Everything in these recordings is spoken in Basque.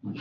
Bueno,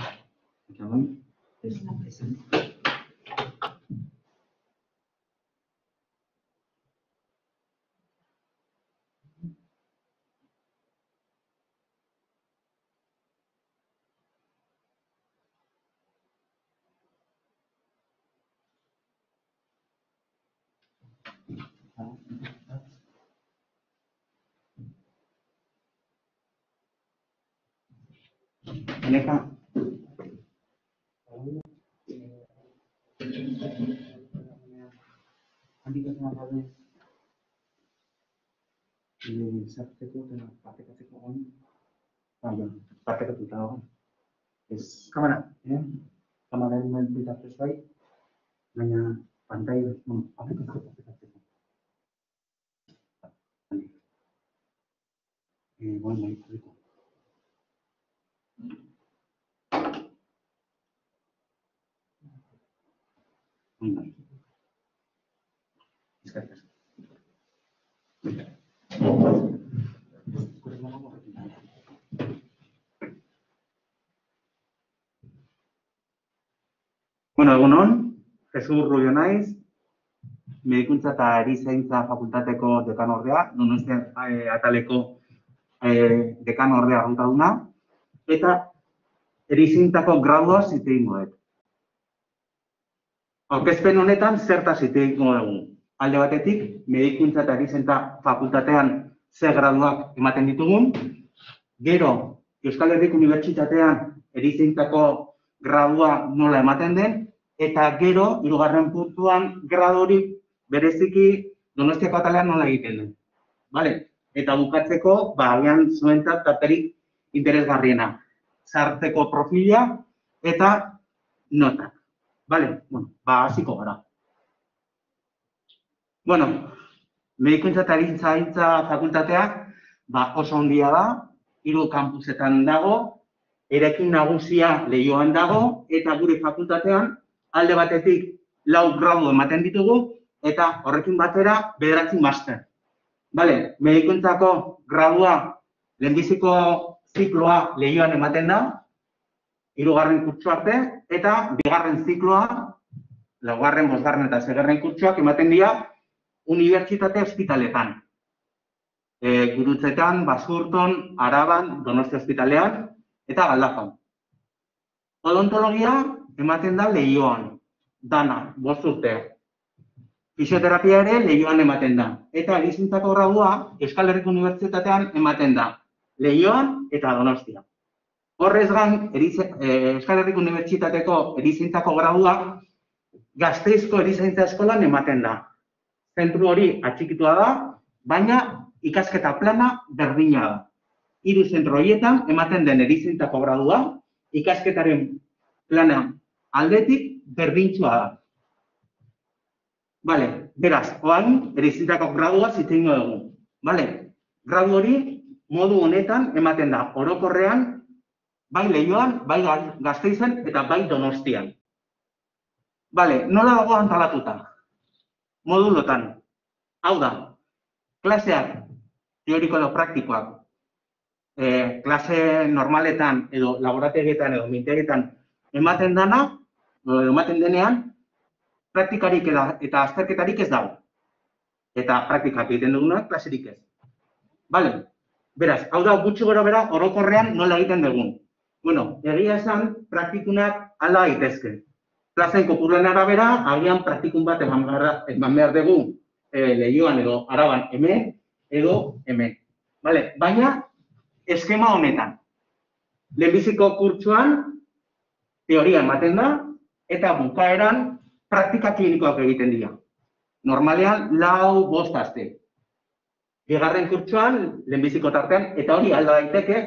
egunon, Jesus Rubio naiz, Medikuntza eta Erizaintza Fakultateko dekanordea, Donostia ataleko dekanordea hautaduna, eta erizaintzako graduaz hitz egingo dut. Aurkezpen honetan zertaz hitz egingo dugu. Alde batetik, Medikuntza eta Erizaintza Fakultatean ze graduak ematen ditugun, gero Euskal Herriko Unibertsitatean erizaintzako gradua nola ematen den, eta gero, hirugarren puntuan, gradu hori bereziki Donostiako atalean nola egiten den. Bale? Eta bukatzeko, agian zuentzat tarterik interesgarriena. Sartzeko profila eta notak. Bale? Bueno, hasiko gara. Bueno, Medikuntza eta Erizaintza Fakultatea oso handia da, 3 kampusetan dago, eraikin nagusia Leioan dago, eta gure fakultatean alde batetik 4 gradu ematen ditugu, eta horrekin batera 9 master. Bale, medikuntzako gradua lehenbiziko zikloa Leioan ematen da, 3. kurtso arte, eta 2. zikloa, 4., 5. eta 6. kurtsoak ematen dira unibertsitate ospitaletan. Gurutzetan, Basurton, Araban, Donostia ospitalean, eta Galdakaon. Odontologia ematen da Leioan, dana, 5 urte. Fisioterapia ere Leioan ematen da. Eta erizaintzako gradua Euskal Herriko Unibertsitatean ematen da, Leioan eta Donostia. Horrez gain, Euskal Herriko Unibertsitateko erizaintzako gradua Gasteizko Erizaintza Eskolan ematen da. Zentru hori atxikitua da, baina ikasketa plana berdina da. 3 zentro horietan ematen den erizaintzako gradua, ikasketaren plana aldetik berdintsua da. Bale, beraz, orain erizaintzako gradua hitz egingo dugu. Bale, gradu hori modu honetan ematen da, orokorrean, bai Leioan, bai Gasteizen eta bai Donostian. Bale, nola dago antolatuta? Modulotan. Hau da, klaseak, teoriko edo praktikoak, klase normaletan edo laborategietan edo mintegietan ematen denean, praktikarik eta azterketarik ez dago. Eta praktikak egiten dugunak, klaserik ez. Bale, beraz, hau da gutxi gora bera orokorrean nola egiten dugun. Bueno, egia esan, praktikunak alda daitezke. Klasen kopuruen arabera, agian praktikun bat eman behar dugu Leioan edo Araban hemen edo hemen. Bale, baina eskema honetan. Lehenbiziko kurtsoan teoria ematen da eta bukaeran praktika klinikoak egiten dira. Normalean 4-5 aste. 2. kurtsoan, lehenbiziko tartean, eta hori alda daiteke,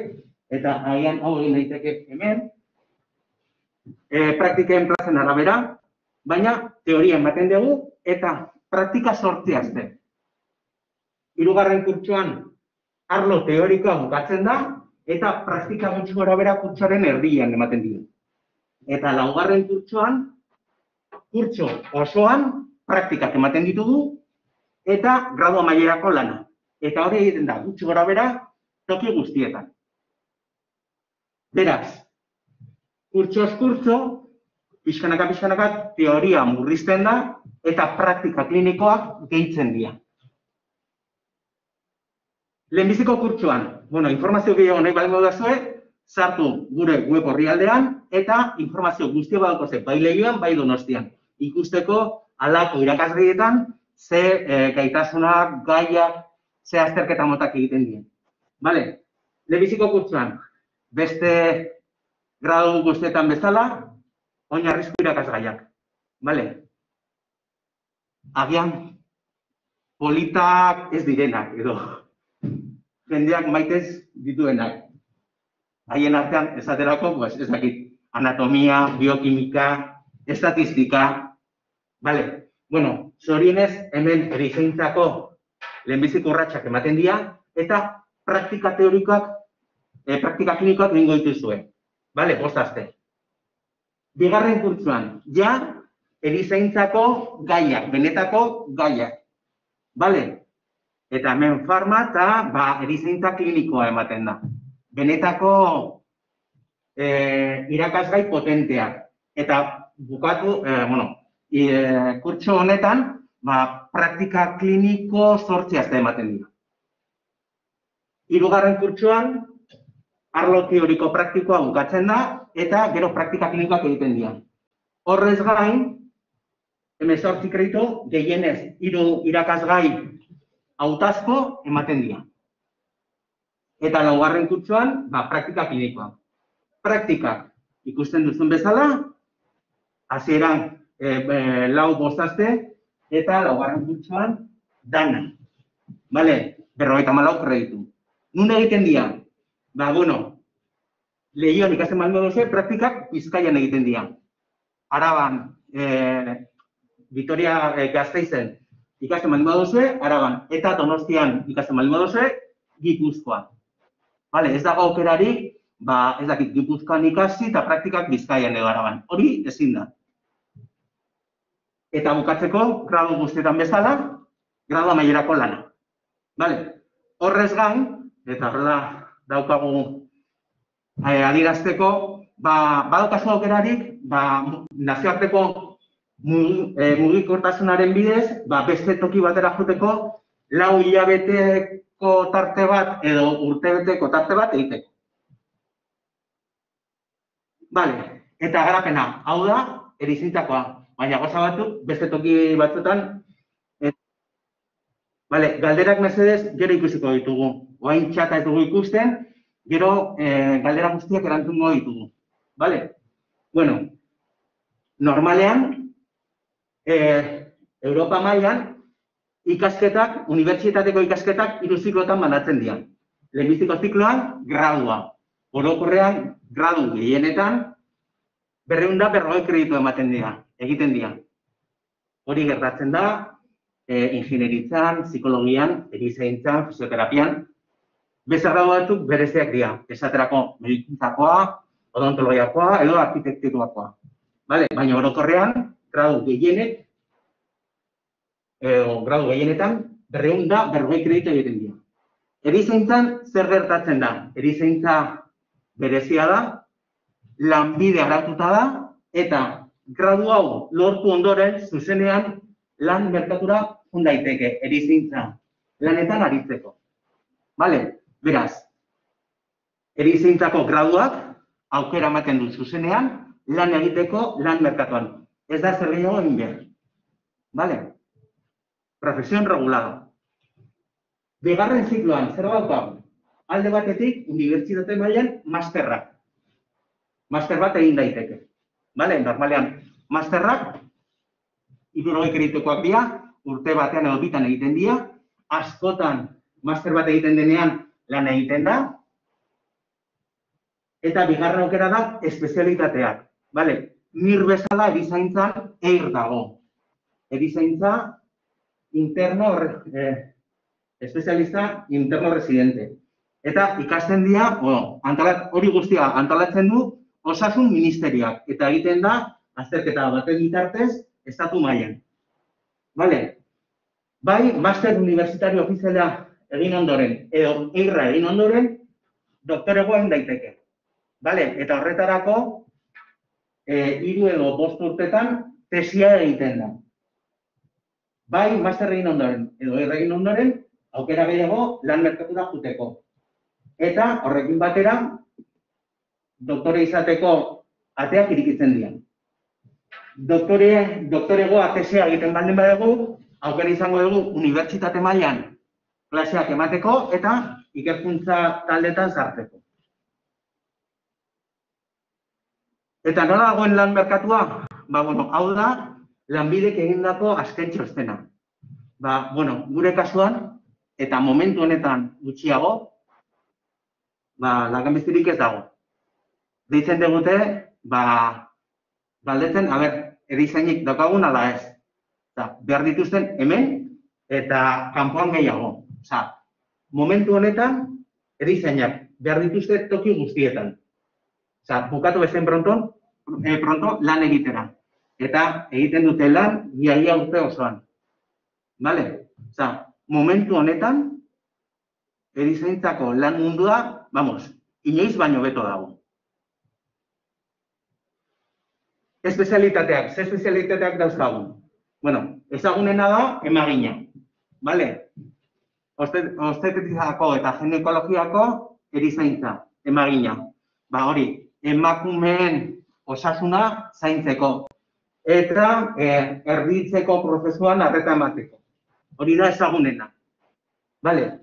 eta agian hau egin daiteke hemen, praktiken plazen arabera, baina teoria ematen dugu eta praktika 8 aste. 3. kurtsoan arlo teorikoa bukatzen da eta praktika gutxi gorabehera kurtsoaren erdian ematen dira. Eta 4. kurtsoan, kurtso osoan praktikak ematen ditugu eta gradu amaierako lana. Eta hori egiten da gutxi gorabehera toki guztietan. Beraz, kurtsoz kurtso, pixkanaka teoria murrizten da eta praktika klinikoak gehitzen dira. Lehenbiziko kurtsoan, informazio gehiago nahi baldin baduzue, sartu gure web orrialdean eta informazio guztia badaukazu bai Leioan, bai Donostian. Ikusteko halako irakasgaietan ze gaitasunak, gaiak, ze azterketa motak egiten dien. Bale, lehenbiziko kurtsoan, beste gradu guztietan bezala, oinarrizko irakasgaiak. Bale, agian politak ez direnak edo jendeak maitez dituenak. Haien artean, esaterako, ez dakit, anatomia, biokimika, estatistika, bale, zorionez, hemen erizaintzako lehenbiziko urratsak ematen dira, eta praktika teorikoak, praktika klinikoak egingo dituzue. Bale, 5 aste. Bigarren kurtsoan, ja, erizaintzako gaiak, benetako gaiak. Bale, eta hemen farma eta erizaintza klinikoa ematen da. Benetako irakasgai potenteak. Eta bukatu, kurtso honetan, praktika kliniko 8 aste ematen dira. 3. kurtsoan, arlo teoriko praktikoa bukatzen da, eta gero praktika klinikoak egiten dira. Horrez gain, 18 kreditu, gehienez 3 irakasgai hautazko ematen dira. Eta 4. kurtsoan, praktika klinikoa. Praktikak ikusten duzun bezala, hasieran 4-5 aste, eta 4. kurtsoan dana. Bale, 54 kreditu. Nun egiten dira? Leioan ikasten baldin baduzue, praktikak Bizkaian egiten dira. Araban, Vitoria Gasteizen ikasten baldin baduzue, Araban. Eta Donostian ikasten baldin baduzue, Gipuzkoan. Bale, ez dago aukerarik, ez dakit, Gipuzkoan ikasi eta praktikak Bizkaian edo Araban. Hori ezin da. Eta bukatzeko, gradu guztietan bezala, gradu amaierako lana. Bale, horrez gain, eta horrela daukagu adierazteko, badaukazu aukerarik, nazioarteko mugikortasunaren bidez, beste toki batera joteko, 4 hilabeteko tarte bat edo urtebeteko tarte bat egiteko. Bale, eta garapena, hau da, erizaintzakoa, baina gauza batzuk, beste toki batzuetan. Bale, galderak mesedez, gero ikusiko ditugu. Oain txata ez dugu ikusten, gero galdera guztiak erantzungo ditugu. Bale? Normalean, Europa mailan, ikasketak, unibertsitateko ikasketak 3 ziklotan banatzen dira. Lehenbiziko zikloan, gradua. Orokorrean, gradu gehienetan, 240 kreditu ematen dira, egiten dira. Hori gertatzen da, ingenieritzan, psikologian, erizaintzan, fisioterapian, beste gradu batzuk bereziak dira. Esaterako medikuntzakoa, odontologiakoa edo arkitekturikoa. Baina orokorrean, gradu gehienetan, 240 kreditu egiten dira. Erizaintzan zer gertatzen da? Erizaintza berezia da, lanbide araututa da, eta gradu hau lortu ondoren, zuzenean, lan merkatura joan daiteke, erizaintza lanetan aritzeko. Beraz, erizaintzako graduak aukera ematen du zuzenean lan egiteko lan merkatuan. Ez da zer gehiago egin behar. Profesión regulada. Bigarren zikloan, zer daukagu? Alde batetik, unibertsitate mailan masterrak. Master bat egin daiteke. Normalean, masterrak 3 kreditukoak dira, urte batean edo bitan egiten dira, askotan master bat egiten denean lan egiten da, eta bigarren aukera da espezialitateak. Nir bezala erizaintzan EIR dago. Erizaintza interno, espezialista interno residente. Eta ikasten dira, hori guztia antolatzen du Osasun Ministerioak, eta egiten da azterketa baten bitartez estatu mailan. Bai, master universitario ofiziala egin ondoren, edo EIR-a egin ondoren, doktoregoa egin daiteke. Eta horretarako, 3 edo 5 urtetan tesia egiten da. Bai, master egin ondoren, edo egin ondoren, aukera gehiago lan merkatura joateko. Eta horrekin batera, doktore izateko ateak irikitzen dira. Doktoregoa tesia egiten baldin badugu, aukera izango dugu unibertsitate mailan klaseak emateko eta ikerkuntza taldetan sartzeko. Eta nola dagoen lan merkatua? Hau da, Lanbidek egindako azken txostena. Gure kasuan, eta momentu honetan gutxiago, langabezirik ez dago. Deitzen digute, galdetzen, erizainik daukagun ala ez. Behar dituzten hemen eta kanpoan gehiago. Momentu honetan, erizainak behar dituzte toki guztietan. Bukatu bezen pronto lan egitera. Eta egiten dute lan iaia urte osoan. Momentu honetan, erizaintzako lan mundua, inoiz baino beto dago. Espezialitateak, ze espezialitateak dauzkagun? Ezagunena da emagina. Obstetriziako eta ginekologiako erizaintza, emagina. Hori, emakumeen osasuna zaintzeko. Eta erditzeko prozesuan arreta emateko. Hori da ezagunena.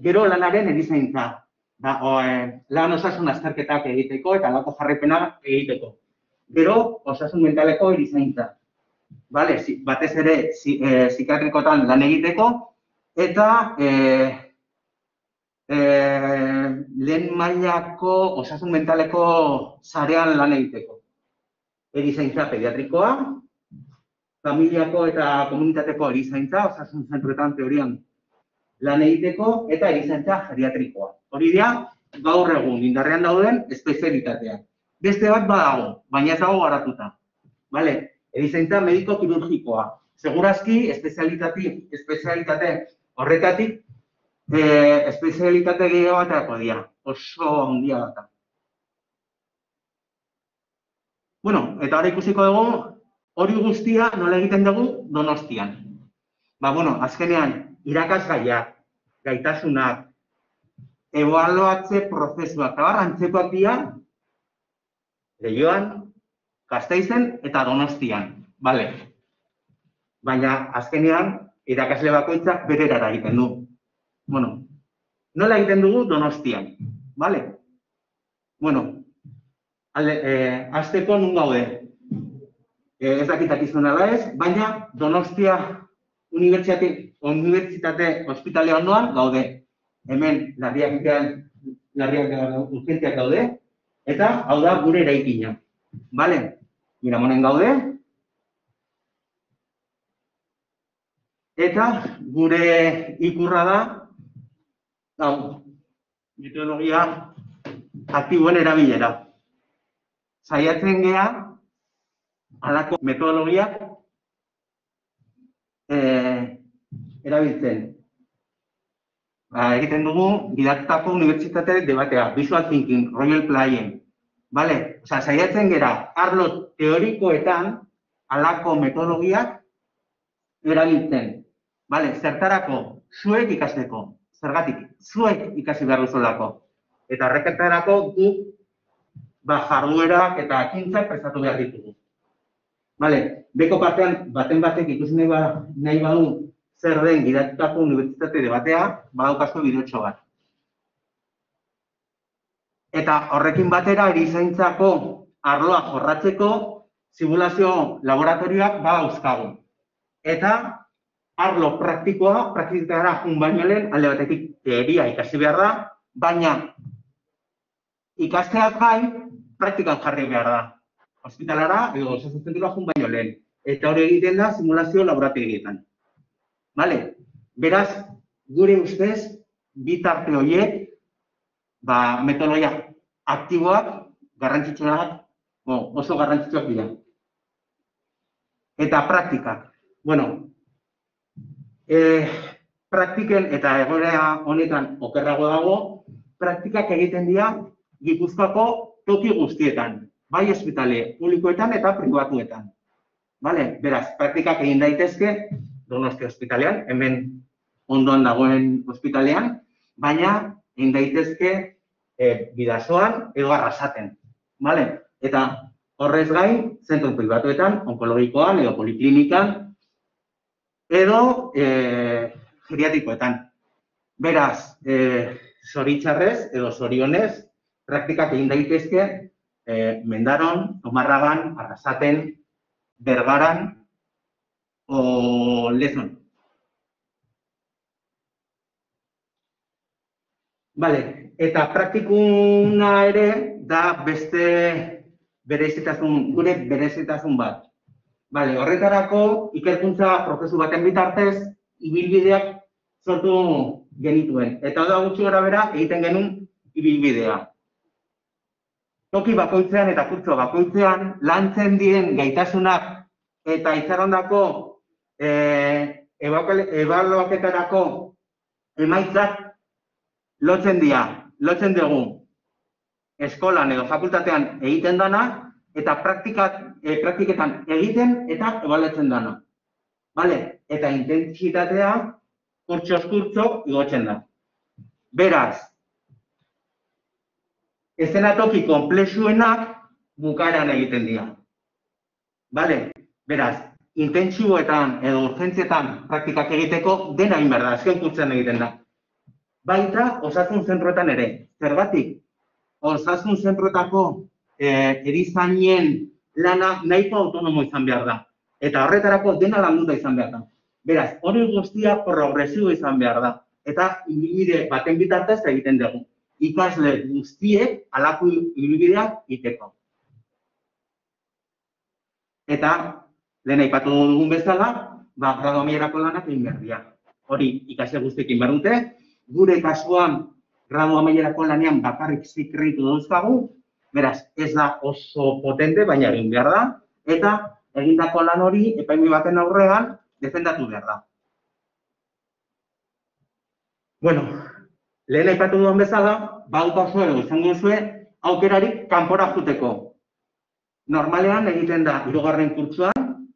Gero lanaren erizaintza. Lan osasun azterketak egiteko eta lako jarraipena egiteko. Gero osasun mentaleko erizaintza. Batez ere psikiatrikotan lan egiteko eta lehen mailako osasun mentaleko sarean lan egiteko. Erizaintza pediatrikoa, familiako eta komunitateko erizaintza, osasun zentruetan teorian lan egiteko, eta erizaintza geriatrikoa. Hori dira, gaur egun indarrean dauden espezialitateak. Beste bat badago, baina ez dago garatuta. Erizaintza mediko-kirurgikoa. Segurazki, espezialitate horretatik, espezialitate gehiago bateako dira. Oso handia bat. Eta hori ikusiko dugu, hori guztia nola egiten dugu Donostian. Azkenean, irakasgaiak, gaitasunak, ebaluatze prozesuak, eta antzekoak dira, Leioan, Gasteizen eta Donostian. Baina, azkenean, irakasle bakoitzak bere erara egiten du. Nola egiten dugu Donostian? Azteko nun gaude. Ez dakitak izan ala ez, baina Donostia Unibertsitate Hospitale ondoan gaude. Hemen larriak urgentziak gaude, eta hau da gure eraikina. Miramonen gaude. Eta gure ikurra da, metodologia aktiboen erabilera. Saiatzen gea, halako metodologiak erabiltzen. Egiten dugu, gidatutako unibertsitate debatea, visual thinking, Royal Playen. Saiatzen gera, arlo teorikoetan, halako metodologiak erabiltzen. Zertarako, zuek ikasteko. Zergatik, zuek ikasi behar duzulako. Eta horreketarako guk jarduerak eta ekintzak prestatu behar ditugu. Beko partean, batek ikusi nahi badu zer den gidatutako unibertsitate debatea, badaukazko bideotxo bat. Eta horrekin batera, erizaintzako arloa jorratzeko simulazio laboratorioak badauzkagu. Eta arlo praktikoa, praktikara jun baino lehen, alde batetik teoria ikasi behar da, baina ikasteaz gain, praktikan jarri behar da. Hospitalara edo osasun zentrura jun baino lehen. Eta hori egiten da simulazio laborategietan. Beraz, gure ustez, bitarte horiek, metodologia aktiboak, garrantzitsuak, oso garrantzitsuak dira. Eta praktikak. Praktiken eta egoera honetan okerrago dago, praktikak egiten dira Gipuzkoako toki guztietan. bai ospitale publikoetan eta pribatuetan. Vale? Beraz, praktikak egin daitezke Donostia ospitalean, hemen ondoan dagoen ospitalean, baina egin daitezke Bidasoan edo Arrasaten. Vale? Eta horrez gain, zentro pribatuetan, onkologikoan edo poliklinikan, edo geriatrikoetan. Beraz, zoritxarrez edo zorionez, praktikak egin daitezke Mendaron, Zumarragan, Arrasaten, Bergaran o Lezon. Vale, eta praktikuna ere da beste gure berezitasun bat. Vale, horretarako ikerkuntza prozesu baten bitartez ibilbideak sortu genituen. Eta da gutxi gorabehera egiten genuen ibilbidea. Toki bakoitzean eta kurtso bakoitzean lantzen diren gaitasunak eta itxarondako ebaluaketarako emaitzak lotzen dugu eskolan edo fakultatean egiten dana eta praktiketan egiten eta ebaluatzen dana. Vale? Eta intentsitatea kurtsoz kurtso igotzen da. Beraz, eszenatoki konplexuenak bukaeran egiten dira. Vale? Beraz, intentsiboetan edo urgentzietan praktikak egiteko dena egin behar da, azken kurtzean egiten da. Baita, osasun zentroetan ere. Zergatik, osasun zentroetako erizainen lana nahiko autonomo izan behar da. Eta horretarako dena landuta izan behar da. Beraz, hori guztia progresibo izan behar da. Eta ibilbide baten bitartez egiten dugu. Ikasle guztiek halako ibilbideak egiteko. Eta, lehen aipatu dugun bezala, gradu amaierako lanak egin behar dira. Hori ikasle guztiek egin behar dute. Gure kasuan, gradu amaierako lanean bakarrik kreditu dauzkagu, beraz, ez da oso potente, baina egin behar da, eta egindako lan hori epaimi baten aurrean defendatu behar da. Bueno, lehen aipatu duen bezala, badukazu edo izango zuen aukerarik kanpora joateko. Normalean egiten da 3. kurtsoan,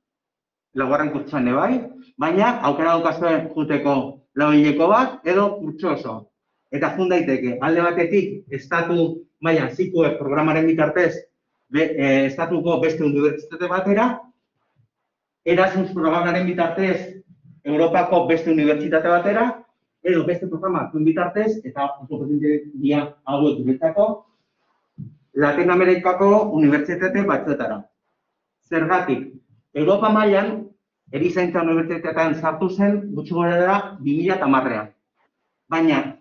4. kurtsoan bai, baina aukera daukazue joateko 4 hileko bat edo kurtso oso. Eta jun daiteke, alde batetik, estatu mailan zikue programaren bitartez, estatuko beste unibertsitate batera, Erasmus programaren bitartez, Europako beste unibertsitate batera, edo beste programa bitartez, eta oso potente dira hauek guretzako, Latin Amerikako unibertsitate batzuetara. Zergatik, Europa mailan, erizaintza unibertsitatean sartu zen, gutxi gorabehera 2010ean. Baina,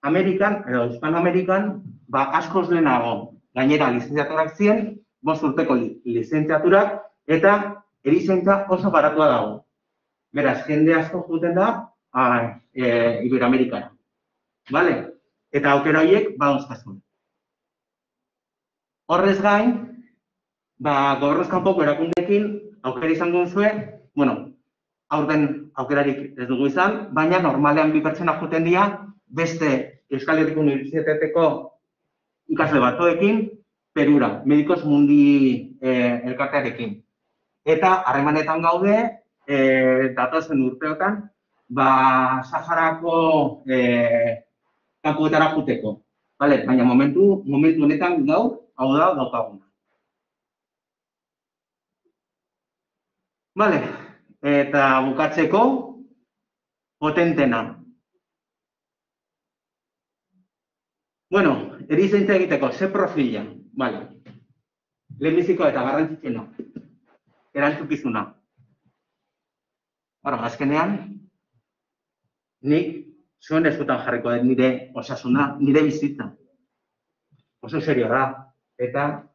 Amerikan, edo Hispanoamerikan, askoz lehenago, gainera lizentziaturak ziren, 5 urteko lizentziaturak, eta erizaintza oso baratua dago. Beraz, jende asko joaten da Iberoamerikara. Bale? Eta aukera horiek badauzkazun. Horrez gain, gobernuz kanpoko erakundeekin aukera izango duzue, aurten aukerarik ez dugu izan, baina normalean 2 pertsona joaten dira beste Euskal Herriko Unibertsitateko ikasle batzuekin Perura, Medikos Mundi elkartearekin. Eta harremanetan gaude, datozen urteotan, Saharako kanpoetara joateko. Baina momentu honetan gaur, hau da daukaguna. Eta bukatzeko, potentena. Erizaintza egiteko, ze profila? Lehenbizikoa eta garrantzitsena. Erantzukizuna. Azkenean, nik zuen eskutan jarriko dut nire osasuna, nire bizitza. Oso serio da. Eta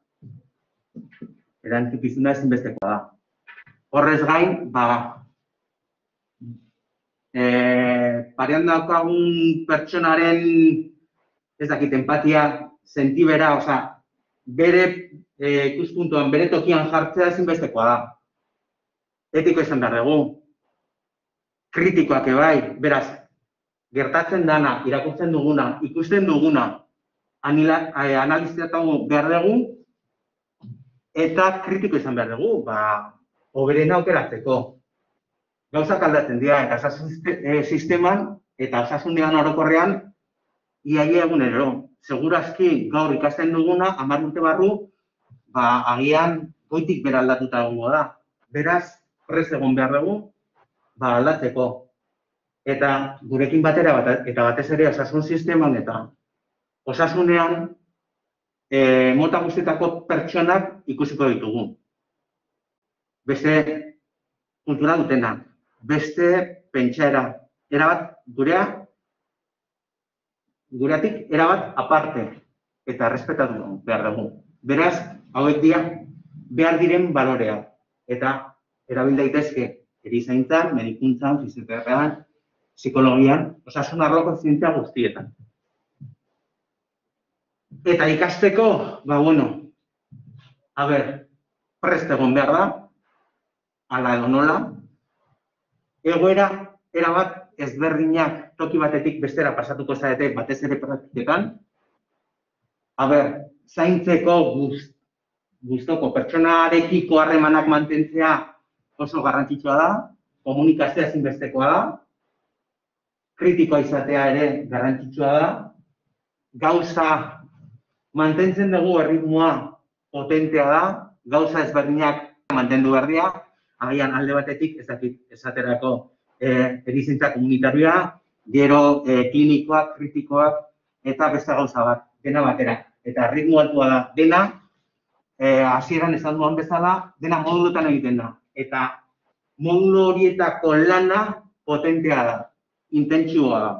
erantzukizuna ezinbestekoa da. Horrez gain, parean daukagun pertsonaren, ez dakit, empatia, sentibera, bere ikuspuntuan, bere tokian jartzea ezinbestekoa da. Etiko izan behar dugu. Kritikoak bai, beraz, gertatzen dana, irakurtzen duguna, ikusten duguna, analizatu behar dugu, Eta kritiko izan behar dugu, hoberena aukeratzeko. Gauzak aldatzen dira, eta osasun sisteman eta osasunean orokorrean iaia egunero. Segurazki gaur ikasten duguna, 10 urte barru, agian goitik bera aldatuta egongo da. Beraz, prest egon behar dugu, aldatzeko. Eta gurekin batera, eta batez ere osasun sisteman eta osasunean, mota guztietako pertsonak ikusiko ditugu. Beste kultura dutenak, beste pentsaera, erabat gureatik erabat aparte eta errespetatu behar dugu. Beraz, hauek dira behar diren baloreak eta erabil daitezke erizaintzan, medikuntzan, fisioterapeutan, psikologian, osasun arloko zientzia guztietan. Eta ikasteko, prest egon behar da, ala edo nola, egoera erabat ezberdinak toki batetik bestera pasatuko zarete batez ere praktiketan. Zaintzeko gustoko pertsonarekiko harremanak mantentzea oso garrantzitsua da, komunikazioa ezinbestekoa da, kritikoa izatea ere garrantzitsua da, gauza mantentzen dugu erritmoa potentea da, gauza ezberdinak mantendu behar dira, agian alde batetik esaterako erizintza komunitarioa, gero klinikoak, kritikoak eta beste gauza bat, dena batera. Eta ritmo altua da, dena, hasieran esan duan bezala, dena moduluetan egiten da. Eta modulu horietako lana potentea da, intentsua da.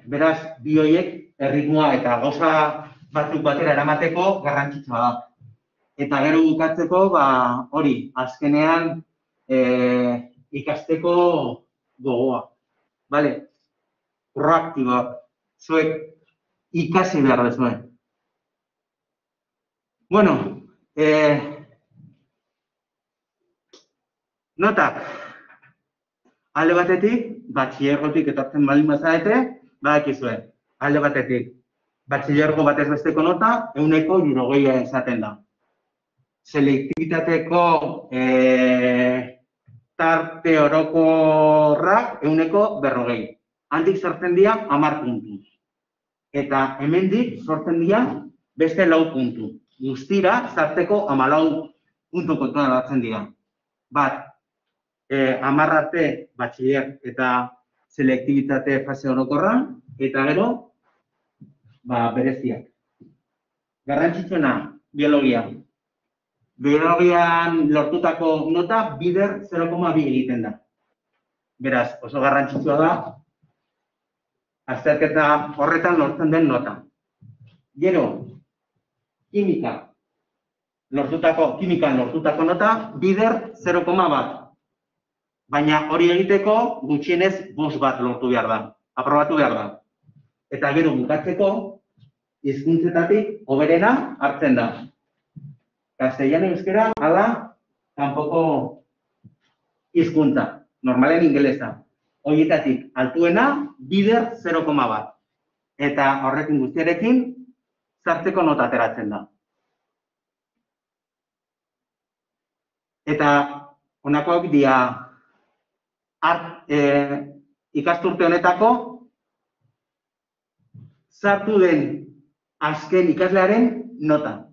Beraz, bi horiek erritmoa eta gauza batzuk batera eramateko garrantzitsua da. Eta gero bukatzeko, hori, azkenean ikasteko gogoa. Proaktiboak, zuek ikasi behar dezuen. Notak, alde batetik, batxilergotik etortzen baldin bazarete, badakizue, alde batetik, batxilergo batez besteko nota, 100% esaten da. Selektibitateko tarte orokorrak 140. Handik sortzen dira 10 puntu. Eta hemendik sortzen dira beste 4 puntu. Guztira, zarteko 14 puntu kontuan hartzen dira. 10 arte batxiler eta selektibitate fase orokorra, eta gero, bereziak. Garrantzitsuena, biologia. Biologian lortutako nota bider 0,2 egiten da. Beraz, oso garrantzitsua da, azterketa horretan lortzen den nota. Gero, kimikan lortutako nota bider 0,1. Baina hori egiteko gutxienez 5 bat lortu behar da, aprobatu behar da. Eta gero bukatzeko, hizkuntzetatik hoberena hartzen da. Castellano euskera, ala, kanpoko hizkuntza, normalen ingelesa. Horietatik altuena, bider 0,1. Eta horrekin guztiarekin, zartzeko nota ateratzen da. Eta honakoak dira ikasturte honetako sartu den azken ikaslearen nota.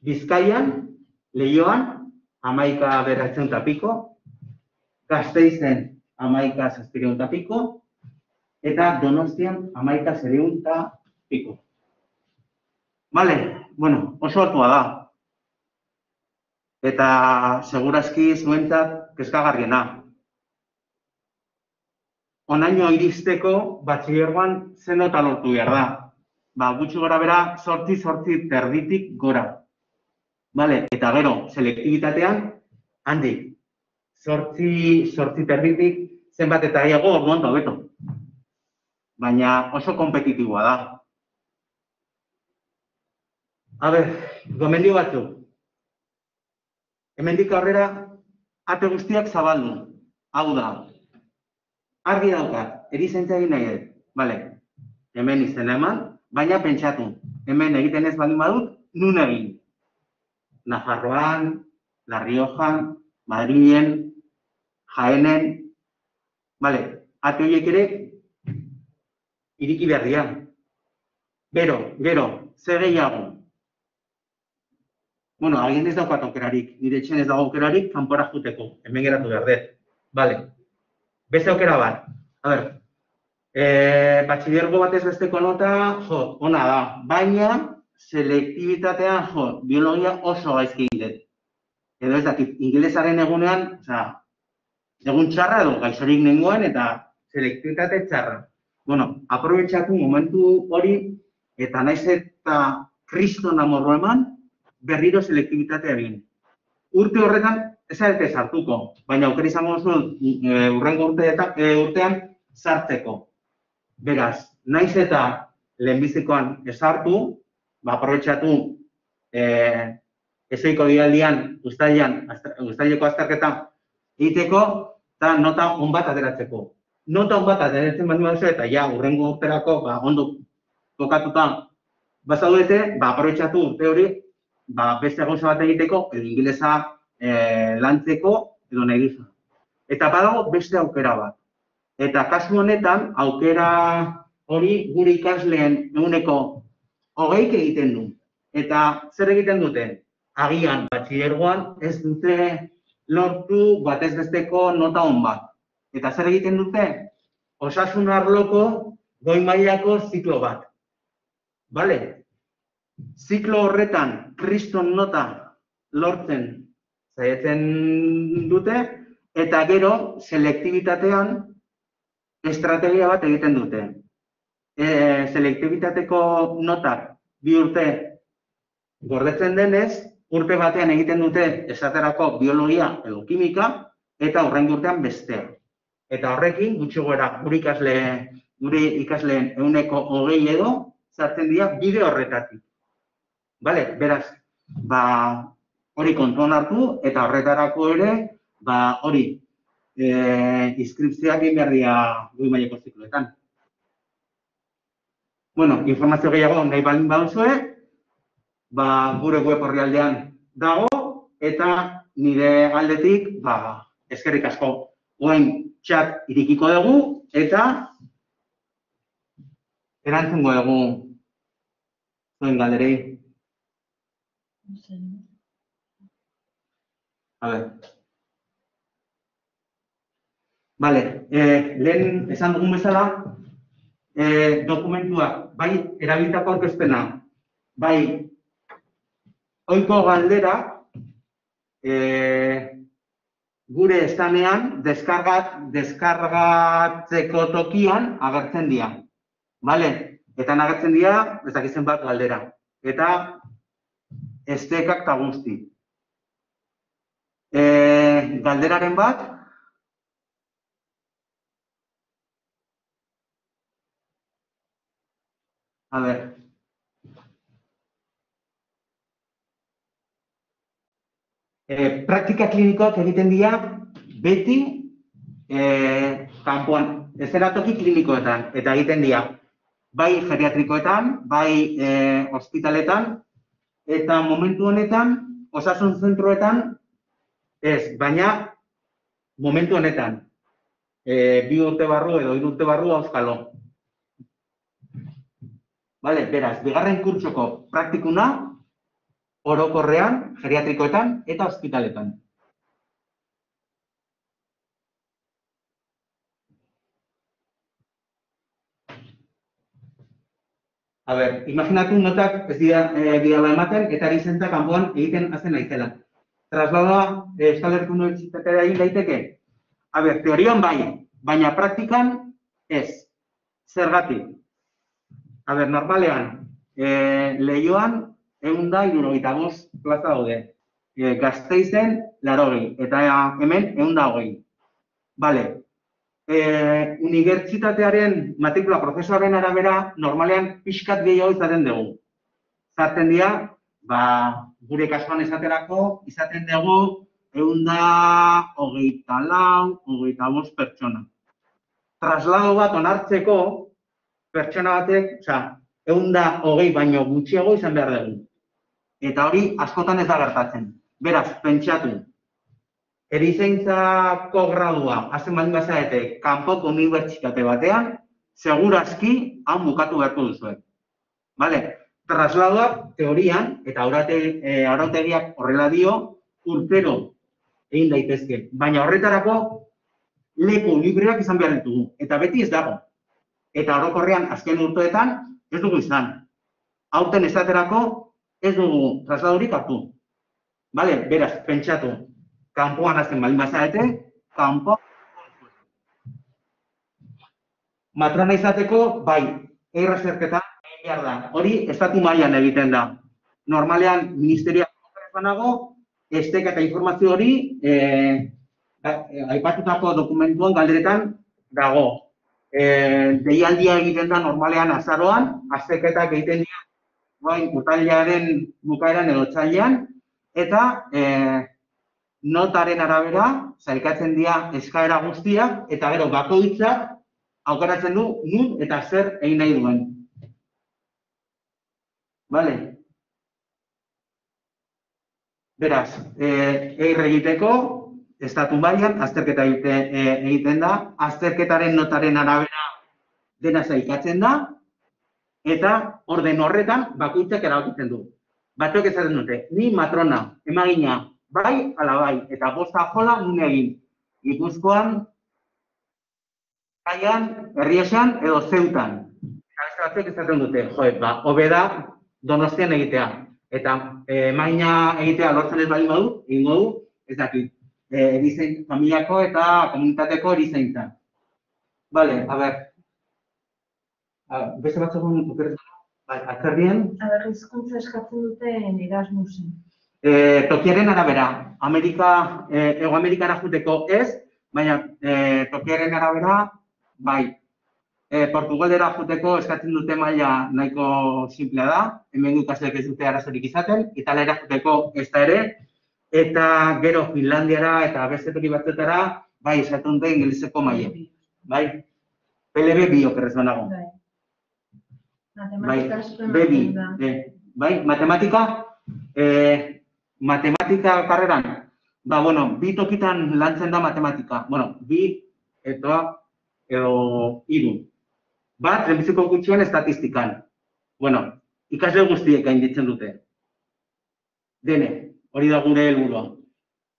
Bizkaian, Leioan, 11.900 piko, Gasteizen 11.600 piko, eta Donostian 11.700 piko. Oso altua da. Eta segurazki zuentzat kezkagarriena. Honaino iristeko batxilergoan zen nota lortu behar da. Gutxi gora bera, 8 terditik gora. Eta gero, selektibitatean, handik, 8 terditik zenbat eta gehiago orduan hobeto. Baina oso kompetitiboa da. Gomendio batzuk. Hemendik aurrera, ate guztiak zabaldu. Hau da. Argi daukat, erizaintza egin nahi dut. Hemen izena eman, baina pentsatu. hemen egiten ez baldin badut, nun egin. Nafarroan, La Riojan, Madrilen, Jaenen, bale, ate horiek ere, iriki behar dira. Gero, zer gehiago? Bueno, agien ez daukat aukerarik, nire etxen ez dago aukerarik, kanpora juteko, hemen geratu behar dut. Bale, beste aukera bat. A ber, batxillergo batez besteko nota, ona da, baina selektibitatean, biologia oso gaizki egiten. Edo ez dakit, ingelesaren egunean, egun txarra edo gaixorik nengoen eta selektibitate txarra. Bueno, aprobetxatu momentu hori eta naiz eta kriston amorro eman, berriro selektibitatea egin. Urte horretan, ez zarete sartuko, baina aukera izango zuen urrengo urtean sartzeko. Beraz, naiz eta lehenbizikoan esartu, aprobetxatu ezoiko dialdian, uztaileko azterketa egiteko, eta nota on bat ateratzeko. Nota on bat ateratzen baldin baduzu eta ja, urrengo urterako ondo kokatuta bazaudete, aprobetxatu urte hori, beste gauza bat egiteko, edo ingelesa lantzeko, edo nahi duzu. Eta badago beste aukera bat. Eta kasu honetan, aukera hori gure ikasleen ehuneko 20 egiten du. Eta zer egiten dute? Agian, batxillergoan ez dute lortu batez besteko nota on bat. Eta zer egiten dute? Osasun arloko goi mailako ziklo bat. Bale? Ziklo horretan kriston nota lortzen saiatzen dute eta gero selektibitatean estrategia bat egiten dute. Selektibitateko notak 2 urte gordetzen denez, urte batean egiten dute esaterako biologia edo kimika eta horrengo urtean bestea. Eta horrekin, gutxi gora, gure ikasleen ehuneko 20 edo sartzen dira bide horretatik. Bale, beraz, hori kontuan hartu eta horretarako ere, hori inskripzioak egin behar dira goi mailako zikloetan. Bueno, informazio gehiago nahi baldin baduzue, gure web orrialdean dago eta nire aldetik eskerrik asko. Orain txat irikiko dugu eta erantzungo dugu zuen galderei. A ver. Vale, lehen esan dugun bezala, dokumentuak, bai erabilitako aurkezpena, bai ohiko galdera, gure estanean deskargatzeko tokian agertzen dira. Bale? Eta agertzen dira, ez dakizen bat galdera. Eta estekak eta guzti. Galderaren bat, a ver. Praktika klinikoak egiten dira beti kanpoan, eszenatoki klinikoetan, eta egiten dira bai geriatrikoetan, bai ospitaletan, eta momentu honetan, osasun zentroetan, ez, baina momentu honetan, 2 urte barru edo 3 urte barru auskalo. Bale, beraz, bigarren kurtsoko praktikuna, orokorrean, geriatrikoetan eta ospitaletan. A ber, imaginatu notak ez dira ematen eta ari zenta kanpoan egiten hasten naizela. Traslada Euskal Herriko Unibertsitatea egin daiteke? A ber, teorian bai, baina praktikan ez. Zergatik? A ber, normalean, Leioan 175 plaza daude. Gasteizen 80 eta hemen 120. Bale. Unibertsitatearen matrikula prozesuaren arabera normalean pixkat gehiago izaten dugu. Zarten dira, gure kasuan esaterako, izaten dugu 124, 25 pertsona. Traslado bat onartzeko pertsona batek, 120 baino gutxiago izan behar dugu. Eta hori askotan ez da gertatzen. Beraz, pentsatu, erizaintzako gradua, hasten baldin bazarete, kanpoko unibertsitate batean, segurazki han bukatu beharko duzuek. Vale? Trasladoak teorian, eta arautegiak horrela dio, urtero egin daitezke. Baina horretarako leku libreak izan behar ditugu. Eta beti ez dago. Eta orokorrean azken urteetan ez dugu izan. Aurten esaterako ez dugu trasladorik hartu. Vale? Beraz, pentsatu. Kanpoan hasten baldin bazarete, kanpoan. Matrona izateko, bai, errazerketa egin behar da. Hori, estatu mailan egiten da. Normalean, ministerioak banago, esteka eta informazio hori aipatutako dokumentuan galderetan dago. Deialdia egiten da normalean azaroan, azterketak egiten dira urtarrilaren bukaeran edo otsailean, eta notaren arabera, sailkatzen dira eskaera guztiak, eta gero bakoitzak aukeratzen du nun eta zer egin nahi duen. Vale? Beraz, egiteko, estatu mailan azterketa egiten da, azterketaren notaren arabera dena sailkatzen da, eta orden horretan bakoitzak erabakitzen du. Batzuk esaten dute, ni matrona, emagina, bai, ala bai, eta bosta jola nun egin. Gipuzkoan, Kaian, Herriesan edo Zeutan. Eta batzuk esaten dute, hobe da Donostian egitea. Eta emagina egitea lortzen ez baldin badu, egingo du, ez dakit, familiako eta komunitateko erizaintza. Vale, a ber. Beste batzuk atzerdien? Hizkuntza eskatzen duten Erasmusen. Tokiaren arabera, Hego Amerikara joateko ez, baina tokiaren arabera, bai. Portugalera joateko eskatzen dute maila nahiko simplea da, hemen ikasleek ez dute arazorik izaten, Italiara joateko ez da ere, eta gero Finlandiara eta beste toki batzuetara, bai, esaten dute ingeleseko maila. Bai, PLB bi okerrez banago. Bai, matematika karreran, bi tokitan lantzen da matematika. Bi edo 3. Bat, lehenbiziko gutxian estatistikan. Ikasle guztiek gainditzen dute. Dene, hori da gure helburua.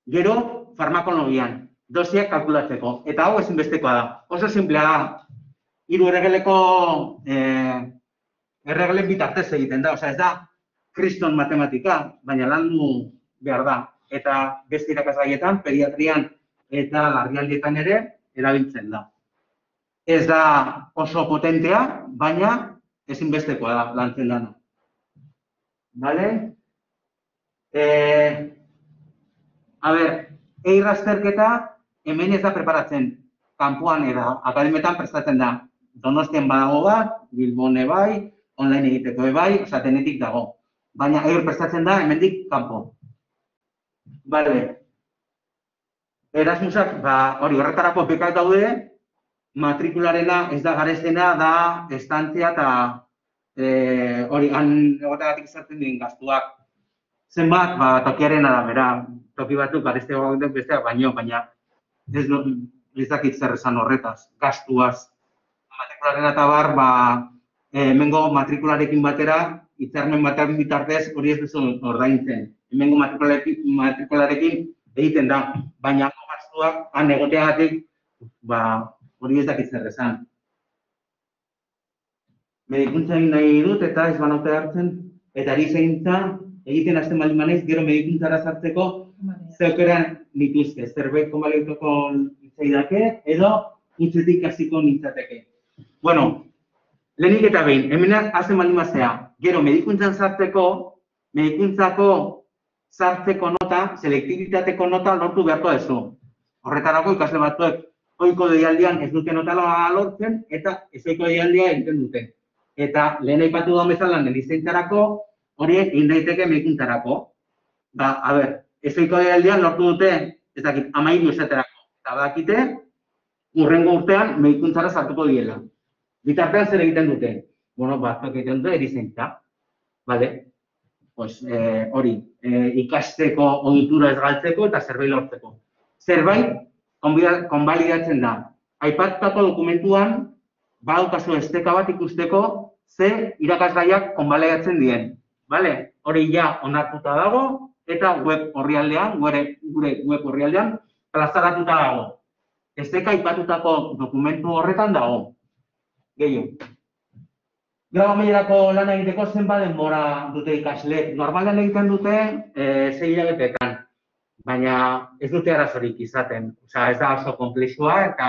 Gero, farmakologian, dosiak kalkulatzeko. Eta hau ezinbestekoa da. Oso simplea da. 3 erregeleko erregelen bitartez egiten da. Ez da, kriston matematika, baina landu behar da. Eta beste irakasgaietan, pediatrian eta larrialdietan ere erabiltzen da. Ez da oso potentea, baina ezinbestekoa da lantzen dana. Bale? Azterketa hemen ez da preparatzen. Kanpoan eta akademietan prestatzen da. Donostian badago bat, Bilbon bai, online egiteko bai, denetik dago. Baina prestatzen da hemendik kanpo. Bale. Erasmusak, horretarako bekak daude, matrikularena ez da garestena, da estantzia eta hori egotagatik izartzen diren gaztuak. Zenbat, tokiaren arabera, toki batzuk garesteko besteak baina ez dakit zer esan horretaz, gastuaz. Matrikularena eta bar, hemengo matrikularekin batera, hitzarmen batean bitartez hori ez duzu ordaintzen. Hemengo matrikularekin egiten da, baina gastuak han egoteagatik hori ez dakit zer esan. Medikuntza egin nahi dut eta ez banaute hartzen, eta erizaintza egiten hasten baldin banaiz, gero medikuntzara sartzeko zeukeran nituzke, zerbait konbaliatuko litzaidake edo utzetik hasiko nintzateke. Lehenik eta behin, hemen hasten baldin bazea, gero medikuntzan sartzeko, medikuntzako sartzeko nota, selektibitateko nota lortu beharko duzu. Horretarako ikasle batzuek ohiko deialdian ez dute nota lortzen eta ezohiko deialdia egiten dute. Eta lehen aipatu da bezala erizaintzarako horiek egin daiteke medikuntzarako. Ezohiko deialdian lortu dute, ez dakit, 13 esaterako. Eta badakite, hurrengo urtean medikuntzara sartuko diela. Bitartean zer egiten dute? batzuk egiten dute erizaintza. Bale? Pues hori, ikasteko ohitura ez galtzeko eta zerbait lortzeko. Zerbait konbalidatzen da. Aipatutako dokumentuan, badaukazu esteka bat ikusteko ze irakasgaiak konbalidatzen dien. Bale? Hori ja onartuta dago eta web orrialdean, gure web orrialdean, plazaratuta dago. Esteka aipatutako dokumentu horretan dago. Gehiago. Grau amaierako lan egiteko zenbat denbora dute ikasleek. Normalean egiten dute 6 hilabeteetan, baina ez dute arazorik izaten. Osea, ez da oso konplexua eta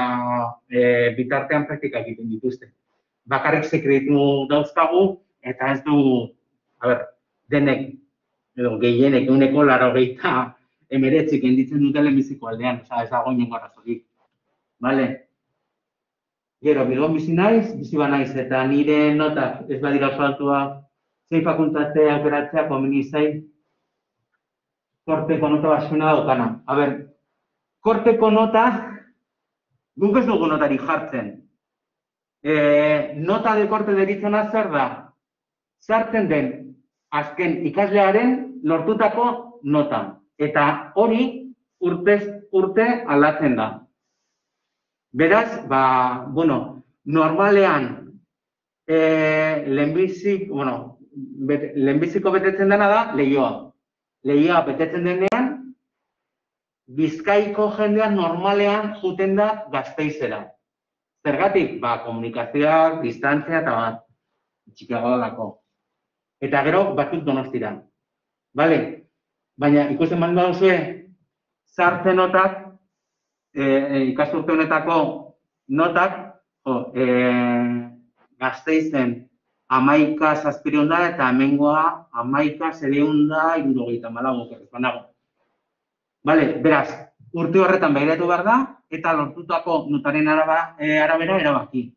bitartean praktika egiten dituzte. Bakarrik sekretu dauzkagu eta ez du, denek, edo gehienek, 89 enditzen dute lehenbiziko aldean, osea, ez dago inongo arazorik. Bale? Gero, Bilbon bizi naiz, bizi banaiz, eta nire notak ez badira oso altuak, zein fakultate aukeratzea komeni zait, korteko nota basuna daukana. Korteko nota, guk ez dugu notari jartzen. Nota de korte deritzona zer da? Sartzen den azken ikaslearen lortutako nota. Eta hori urtez urte aldatzen da. Beraz, normalean lehenbiziko betetzen dena da lehioa. Lehioa betetzen denean, Bizkaiko jendean normalean juten da Gasteizera. Zergatik? Komunikazioak, distantzia eta bat. Txikiagoa dalako. Eta gero batzuk Donostira. Bale? Baina ikusten baldin baduzue, sartzen notak, ikasturte honetako notak, Gasteizen 11.700 da eta hemengoa 11.774 okerrez banago. Bale, beraz, urte horretan begiratu behar da eta lortutako notaren arabera erabaki.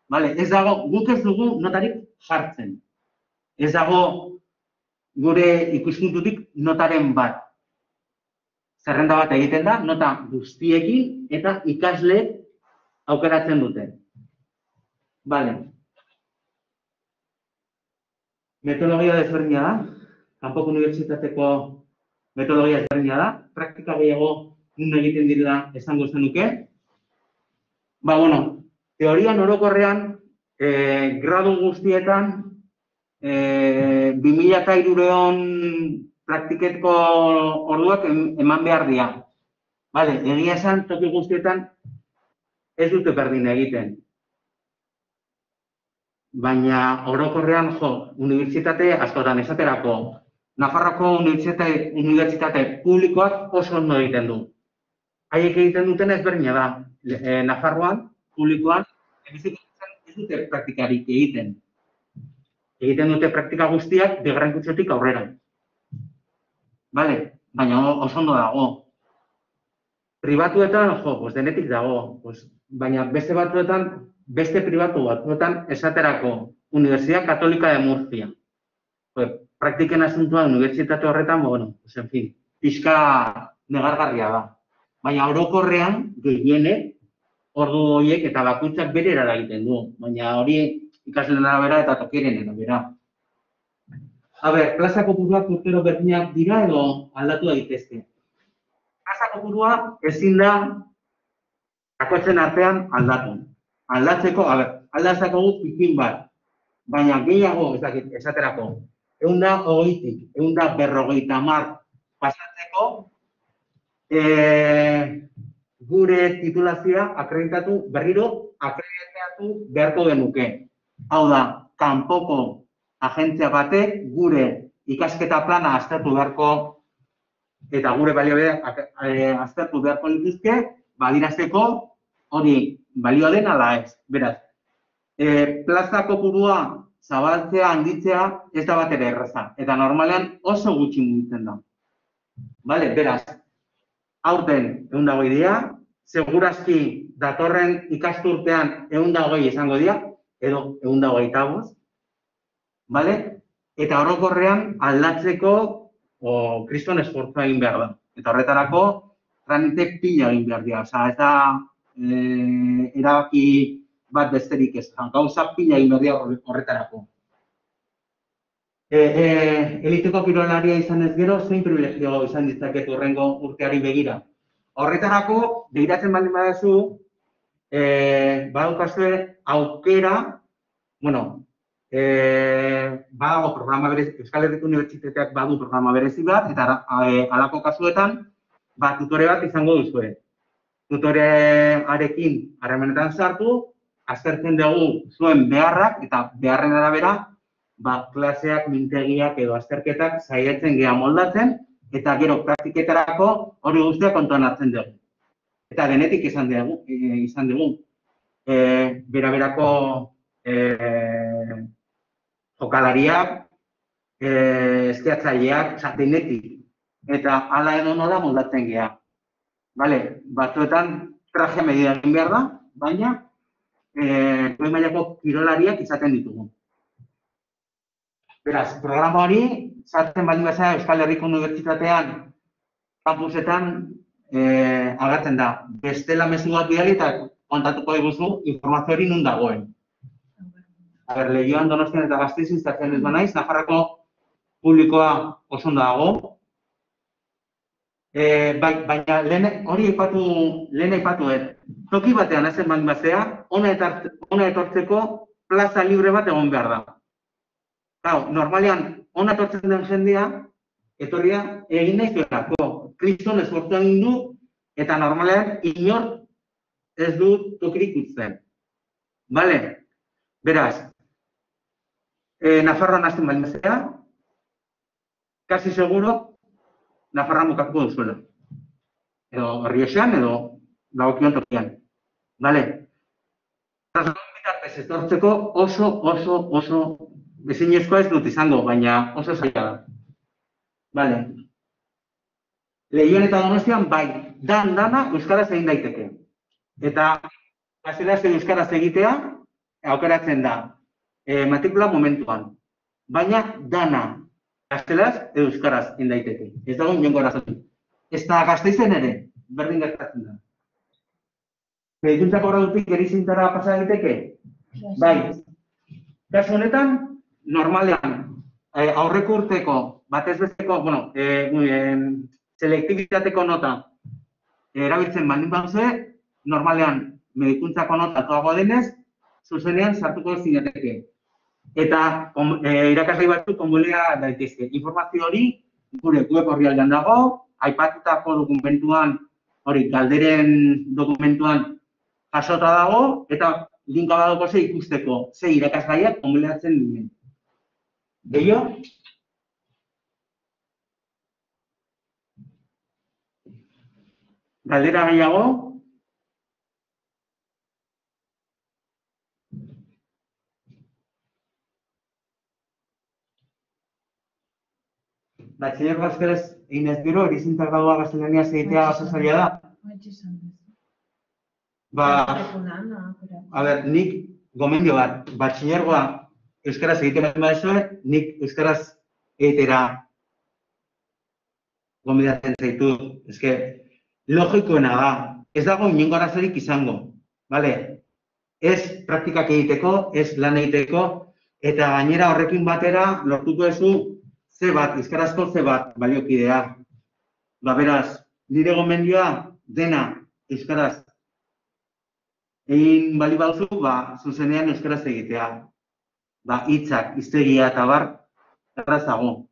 Bale, ez dago, guk ez dugu notarik jartzen. Ez dago gure ikuspuntutik notaren bat. Zerrenda bat egiten da, nota guztiekin eta ikasleek aukeratzen dute. Bale. Metodologia desberdina da. Kanpoko unibertsitateko metodologia desberdina da. Praktika gehiago nun egiten direla esango zenuke. Teorian orokorrean, gradu guztietan, 2300 praktiketko orduak eman behar dira. Bale, egia esan, toki guztietan ez dute berdin egiten. Baina orokorrean, unibertsitate askotan esaterako, Nafarroako unibertsitate publikoak oso ondo egiten du. Haiek egiten duten ezberdina da. Nafarroan, publikoan, ez dute praktikarik egiten. Egiten dute praktika guztiak bigarren kurtsotik aurrera. Bale, baina oso ondo dago. Pribatuetan, denetik dago. Baina beste batzuetan, beste pribatu batzuetan esaterako Universidad Católica de Murcia. Praktiken asuntua unibertsitate horretan, pixka negargarria da. Baina orokorrean, gehienek, ordu horiek eta bakoitzak bere erara egiten du. Baina hori ikasleen arabera eta tokiren arabera. Plaza kopuruak urtero berdinak dira edo aldatu daitezke. Plaza kopurua ezin da bakoitzen artean aldatu. Aldatzeko, aldatzeko gut pikin bat. Baina gehiago, esaterako, 120-tik, 150 pasatzeko, gure titulazioa berriro akreditatu beharko genuke. Hau da, kanpoko agentzia batek gure ikasketa plana aztertu beharko eta gure baliobideak aztertu beharko lituzke, badirazteko hori balio den ala ez. Beraz, plaza kopurua zabaltzea, handitzea, ez da bat ere erraza. Eta normalean oso gutxi mugitzen da. Bale, beraz, aurten 120 dira, segurazki datorren ikasturtean 120 izango dira, edo 125, bale? Eta orokorrean aldatzeko kriston esfortzua egin behar da. Eta horretarako tramite pila egin behar dira. Osa, ez da erabaki bat besterik ez. Gauza pila egin behar dira horretarako. Eliteko kirolaria izan ez gero, zein privilegio izan ditzaket hurrengo urteari begira. Horretarako, begiratzen baldin badazu, badaukazue aukera, badago programa berezi, Euskal Herriko Unibertsitateak badu programa berezi bat, eta halako kasuetan, tutore bat izango duzue. Tutorearekin harremanetan sartu, aztertzen dugu zuen beharrak, eta beharren arabera, klaseak, mintegiak edo azterketak saiatzen geha moldatzen, eta gero praktiketarako hori guztiak kontuan hartzen dugu. Eta genetik izan dugu. Beraberako jokalariak, eskiatzaileak, denetik. Eta hala edo nola moldatzen geha. Batzuetan traje medida egin behar da, baina goi mailako kirolariak izaten ditugu. Beraz, programa hori, sartzen baldin bazara Euskal Herriko Unibertsitatean, kampusetan agertzen da. Bestela mezu bat bidali eta kontatuko diguzu informazio hori nun dagoen. Leioan, Donostian eta Gasteizen iztatzen ez banaiz, Nafarroko publikoa oso ondo dago. Baina hori lehen aipatu toki batean hazen baldin bazara, hona etortzeko plaza libre bat egon behar da. Normalean, hona etortzen den jendea, etorria egin nahi zuelako. Kriston esfortzua egin du, eta normalean inor ez du tokirik utzen. Beraz, Nafarroan hasten baldin bazara, kasi seguro, Nafarroan bukatuko duzuela. Edo Rioxan, edo dagokion tokian. Bitartez etortzeko oso ezinezkoa ez dut izango, baina oso zaila da. Leioan eta Donostian, dana euskaraz egin daiteke. Eta gaztelaniaz euskaraz egitea aukeratzen da matrikula momentuan. Baina dana gaztelaniaz euskaraz egin daiteke. Ez dago inongo arazorik. Ez da Gasteizen ere, berdin gertatzen da. Medikuntzako gradutik Gerizintara pasa daiteke? Kasu honetan, normalean, aurreko urteko, batez besteko, selektibitateko nota erabiltzen baldin baduzue, normalean medikuntzako nota altuagoa denez, zuzenean sartuko zinateke. Eta irakasgai batzuk konbulea daitezke. Informazio hori gure web orrialdean dago, aipatutako dokumentuan, galderen dokumentuan jasota dago, eta linka badauko ze ikusteko, ze irakasgaiak konbuleatzen duen. Gehiago? Galdera gehiago? Batxilergo euskaraz egin ez gero, Erizintzak gradua gaztelaniaz egitea oso zaila da. Nik gomendio bat, batxilergoa euskaraz egiten bat badezue, nik euskaraz egitera gomendatzen zaitu. Logikoena da, ez dago inongo arazorik izango. Ez praktikak egiteko, ez lan egiteko, eta gainera horrekin batera lortuko duzu euskarazko C bat baliokidea. Beraz, nire gomendioa dena euskaraz egin bali bauzu, zuzenean euskaraz egitea. Hitzak, hiztegia eta bar, errazago.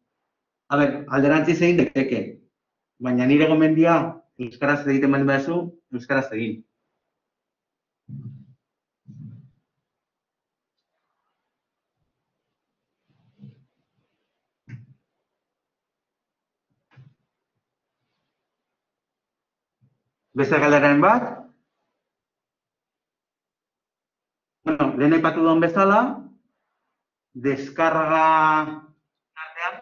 Alderantziz egin daiteke, baina nire gomendioa euskaraz egiten bali bauzu, euskaraz egin. Beste galderaren bat. Lehen aipatu duen bezala, deskarga artean.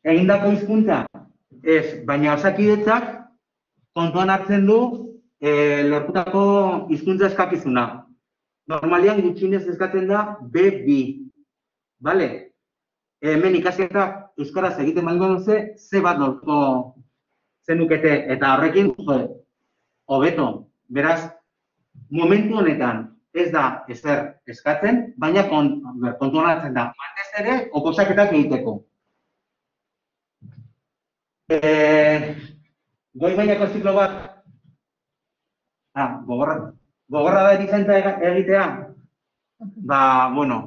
Egindako hizkuntza, baina Osakidetzak kontuan hartzen du lortutako hizkuntza eskakizuna. Normalian gutxienez eskatzen da B2. Hemen ikasketak euskaraz egiten baldin baduzu, C bat lortuko zenukete, eta horrekin, hobeto. Beraz, momentu honetan ez da ezer eskatzen, baina kontuan hartzen da, batez ere, oposaketak egiteko. Goi mailako ziklo bat, gogorra da erizaintza egitea? Bueno,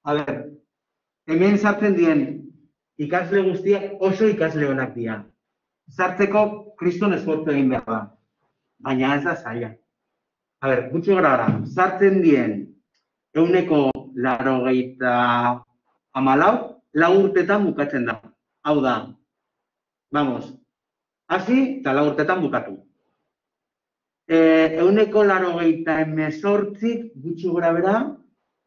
a ber, hemen sartzen dien ikasle guztiak oso ikasle honak dira. Sartzeko kriston esfortzu egin behar da, baina ez da zaila. A ber, gutxi gara, sartzen dien 94 lau urtetan bukatzen da. Hau da, vamos, hasi eta 4 urtetan bukatu. 98 gutxi gora bera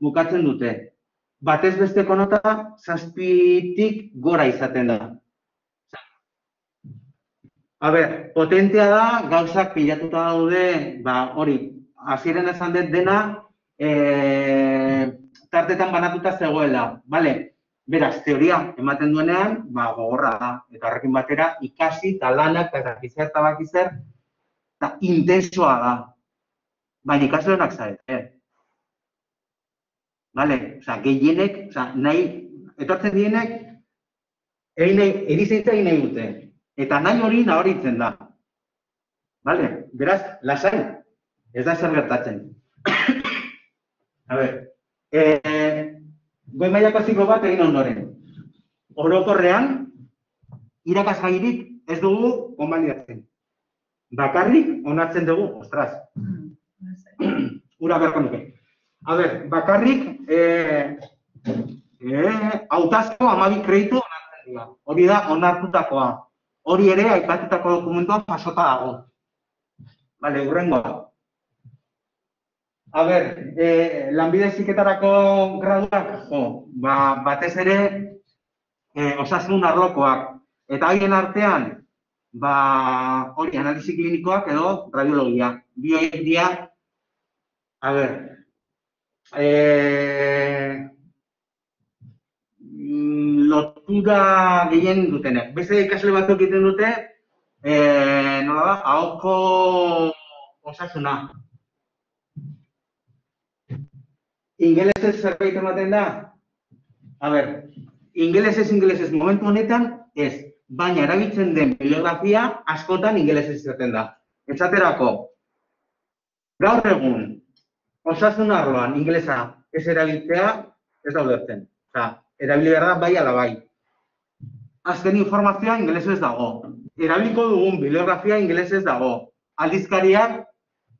bukatzen dute. Batez besteko nota 7tik gora izaten da. A ber, potentea da, gauzak pilatuta daude, hori, hasieran esan dut dena, tartetan banatuta zegoela, bale? Beraz, teoria ematen duenean, gogorra da, eta horrekin batera ikasi, eta lanak, eta bakizer, eta intensoa da. Baina ikasle honak zarete. Bale, gehienek, nahi, etortzen dienek, erizaintza egin nahi dute. Eta nahi hori nabaritzen da. Bale, beraz, lasai, ez da zer gertatzen. A ber, goi mailako ziklo bat egin ondoren. Orokorrean, irakasgairik ez dugu konbalidatzen. Bakarrik onartzen dugu, ostras. Ura beharko nuke. A ber, bakarrik hautazko 12 kreditu onartzen dira. Hori da onartutakoa. Hori ere aipatutako dokumentuan pasota dago. Bale, hurrengoa. A ber, lanbide heziketarako graduak, batez ere osasun arlokoak. Eta haien artean, hori analisi klinikoak edo radiologia. Bi horiek dira, a ber, lotura gehien dutenek. Beste ikasle batzuk egiten dute, nola da, ahoko osasuna. Ingelesez zerbait ematen da? A ber, ingelesez momentu honetan ez, baina erabiltzen den bibliografia askotan ingelesez izaten da. Esaterako, gaur egun, osasun arloan ingelesa ez erabiltzea ez da ulertzen. Erabili behar da bai ala bai. Azken informazioa ingelesez dago. Erabiliko dugun bibliografia ingelesez dago. Aldizkariak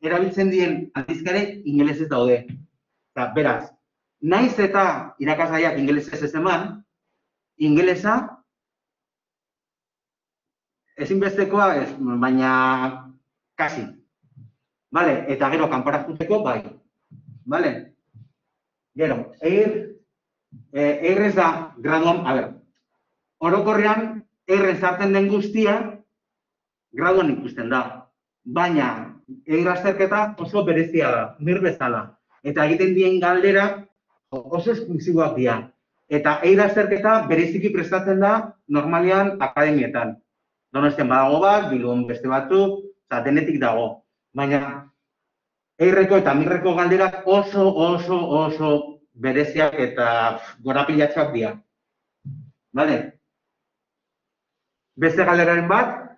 erabiltzen dien aldizkariak ingelesez daude. Beraz, naiz eta irakasgaiak ingelesez ez eman, ingelesa ezinbestekoa ez, baina kasi. Bale, eta gero kanpora joateko bai. Bale? Gero, ez da graduan, a ber, orokorrean erren sartzen den guztia graduan ikusten da. Baina, azterketa oso berezia da, nir bezala. Eta egiten dien galdera oso esklusiboak dira. Eta azterketa bereziki prestatzen da normalean akademietan. Donostian badago bat, Bilbon beste batzuk, denetik dago. Baina, eirreko eta mirreko galderak oso bereziak eta gorapilatxoak dira. Bale? Beste galderaren bat,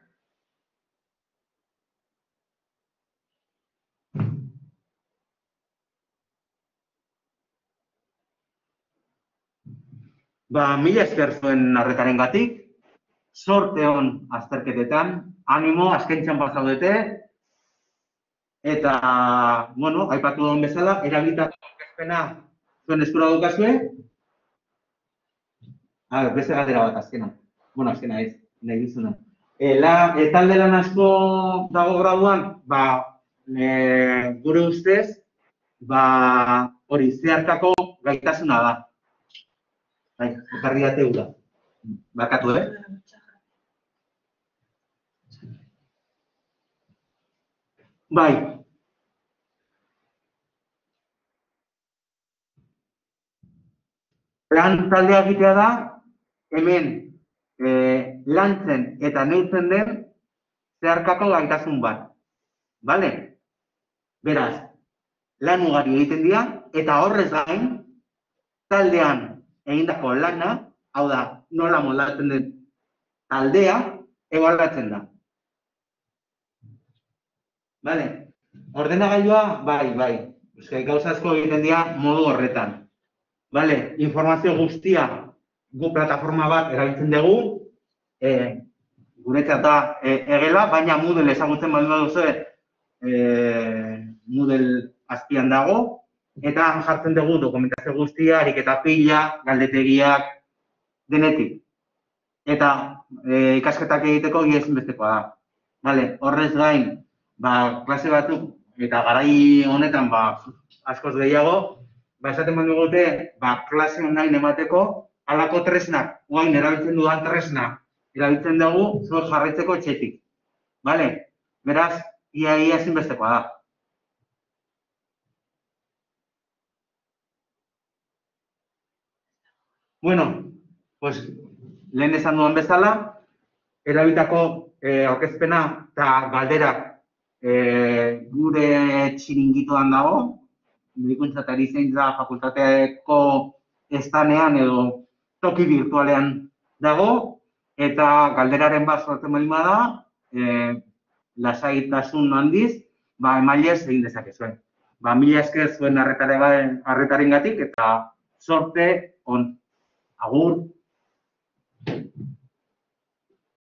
mila esker zuen arretarengatik, sorte on azterketetan, animo, azken txanpa zaudete, eta, bueno, aipatu duen bezala, erabilitako aurkezpena zuen eskura daukazue. Beste galdera bat, azkena. Bueno, azkena ez, nahi duzuna. Talde lan asko dago graduan, gure ustez, hori zeharkako gaitasuna da. Ekarri date ura. Barkatu, Bai. Plan taldea egitea da, hemen lantzen eta neurtzen den zeharkako gaitasun bat. Bale? Beraz, lan ugari egiten dira, eta horrez gain, taldean egindako lana, hau da, nola moldatzen den taldea, ebaluatzen da. Bale? Ordenagailua, bai. Gauza asko egiten dira modu horretan. Bale? Informazio guztia gu plataforma bat erabiltzen dugu, guretzat da egela, baina Moodle ezagutzen baldin baduzue, Moodle azpian dago, eta jartzen dugu dokumentazio guztia, ariketa pila, galdetegiak, denetik. Eta ikasketak egiteko ezinbestekoa da. Bale, horrez gain, klase batzuk, eta garai honetan askoz gehiago, esaten baldin dute, klase online emateko, halako tresnak, guain erabiltzen dudan tresnak, erabiltzen dugu zuek jarraitzeko etxetik. Bale? Beraz, ia ezinbestekoa da. Bueno, pues, lehen esan duan bezala, erabilitako aurkezpena eta galderak gure txiringitoan dago, medikuntza eta erizaintza fakultateko estanean edo toki virtualean dago, eta galderaren bat sortzen baldin bada, lasaitasun handiz, emailez egin dezakezuen. Mila esker zuen arretarengatik eta sorte on. Agur.